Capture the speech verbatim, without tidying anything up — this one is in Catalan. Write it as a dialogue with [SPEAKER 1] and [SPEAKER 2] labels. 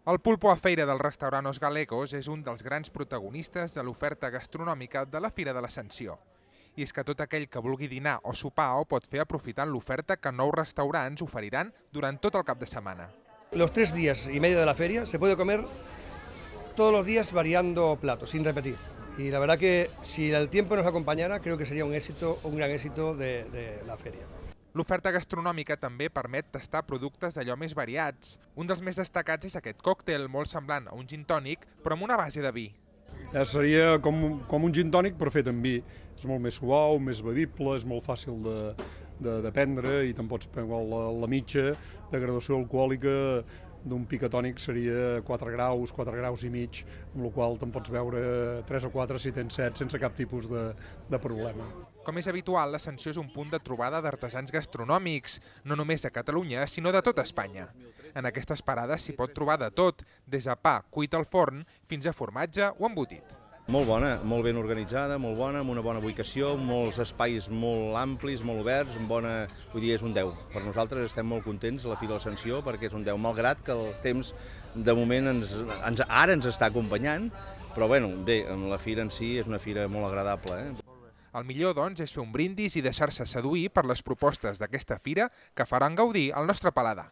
[SPEAKER 1] El pulpo a feira del restaurant Os Galegos és un dels grans protagonistes de l'oferta gastronòmica de la Fira de l'Ascensió. I és que tot aquell que vulgui dinar o sopar ho pot fer aprofitant l'oferta que nous restaurants oferiran durant tot el cap de setmana.
[SPEAKER 2] Los tres días y medio de la feria se puede comer todos los días variando platos, sin repetir. Y la verdad que si el tiempo nos acompañara, creo que sería un éxito, un gran éxito de, de la feria.
[SPEAKER 1] L'oferta gastronòmica també permet tastar productes d'allò més variats. Un dels més destacats és aquest còctel molt semblant a un gin tònic, però amb una base de vi.
[SPEAKER 3] Ja seria com, com un gin tònic però fet amb vi. És molt més suau, més bevible, és molt fàcil de, de, de prendre i te'n pots prendre la, la mitja de graduació alcohòlica d'un picatònic seria quatre graus, quatre graus i mig, amb la qual te'n pots beure tres o quatre si tens set sense cap tipus de, de problema.
[SPEAKER 1] Com és habitual, l'Ascensió és un punt de trobada d'artesans gastronòmics, no només de Catalunya, sinó de tota Espanya. En aquestes parades s'hi pot trobar de tot, des de pa cuit al forn fins a formatge o embotit.
[SPEAKER 4] Molt bona, molt ben organitzada, molt bona, amb una bona ubicació, molts espais molt amplis, molt oberts, amb bona, vull dir, és un deu. Per nosaltres estem molt contents a la Fira de l'Ascensió perquè és un deu, malgrat que el temps de moment ens, ens, ara ens està acompanyant, però bueno, bé, la fira en si és una fira molt agradable. Eh?
[SPEAKER 1] El millor, doncs, és fer un brindis i deixar-se seduir per les propostes d'aquesta fira que faran gaudir el nostre paladar.